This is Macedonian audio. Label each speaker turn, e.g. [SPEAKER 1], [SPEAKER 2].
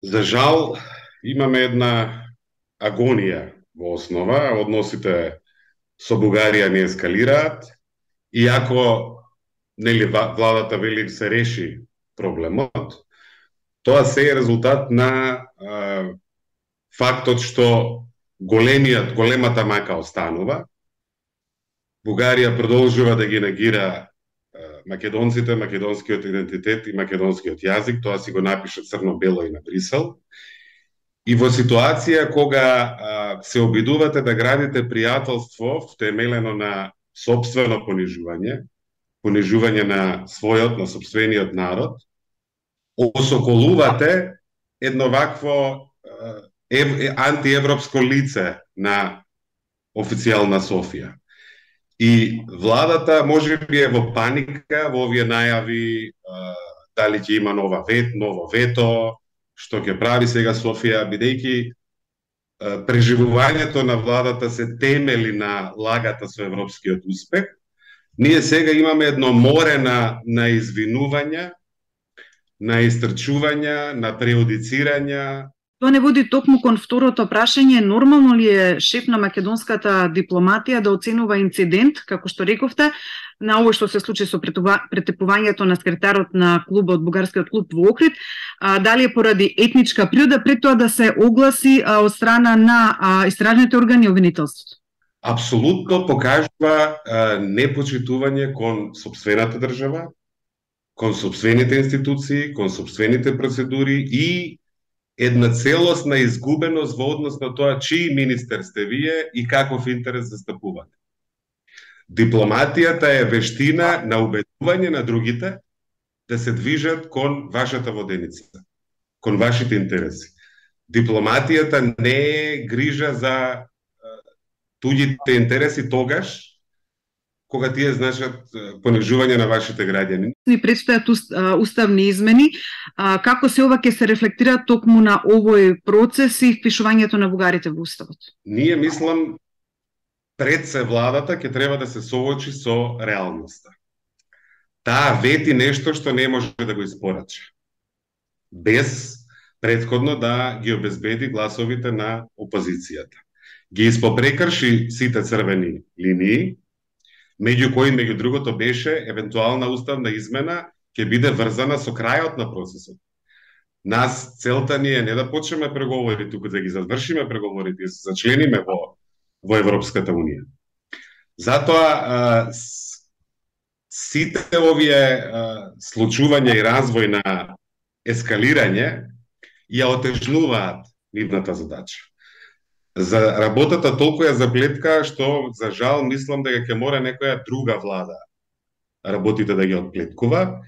[SPEAKER 1] За жал, имаме една агонија во основа, односите со Бугарија не ескалираат, иако нели владата вели се реши проблемот, тоа се е резултат на фактот што големата мака останува. Бугарија продолжува да ги негира македонците, македонскиот идентитет и македонскиот јазик, тоа си го напиша црно-бело и на Брисел. И во ситуација кога се обидувате да градите пријателство втемелено на сопствено понижување на својот, на сопствениот народ, осоколувате едно вакво антиевропско лице на официјална Софија. И владата можеби е во паника во овие најави дали ќе има ново вето, што ќе прави сега Софија, бидејќи преживувањето на владата се темели на лагата со европскиот успех. Ние сега имаме едно море на извинувања, на истрчувања, на преодицирања.
[SPEAKER 2] Тоа не води токму кон второто прашање, нормално ли е шеф на македонската дипломатија да оценува инцидент, како што рековте, на ово што се случи со претепувањето на секретарот на клубот, бугарскиот клуб во Охрид, дали е поради етничка природа, пред тоа да се огласи од страна на истражните органи и обвинителството?
[SPEAKER 1] Апсолутно покажува непочитување кон сопствената држава, кон сопствените институции, кон сопствените процедури и една целосна изгубеност во однос на тоа чии министер сте вие и каков интерес застапувате. Дипломатијата е вештина на убедување на другите да се движат кон вашата воденица, кон вашите интереси. Дипломатијата не е грижа за туѓите интереси тогаш кога тие значат понижување на вашите граѓани.
[SPEAKER 2] Ни предстојат уставни измени. Како се ова ќе се рефлектира токму на овој процес и впишувањето на бугарите во уставот?
[SPEAKER 1] Ние мислам пред се владата ќе треба да се соочи со реалноста. Таа вети нешто што не може да го испорача, без претходно да ги обезбеди гласовите на опозицијата. Ги испопрекрши сите црвени линии, меѓу кои, меѓу другото, беше евентуална уставна измена ќе биде врзана со крајот на процесот. Нас целта ни е не да почнеме преговори, туку да ги завршиме преговорите и се зачлениме во Европската Унија. Затоа сите овие случувања и развој на ескалирање ја отежнуваат нивната задача. За работата толку ја заплетка што за жал мислам дека ќе мора некоја друга влада работите да ги отплеткува,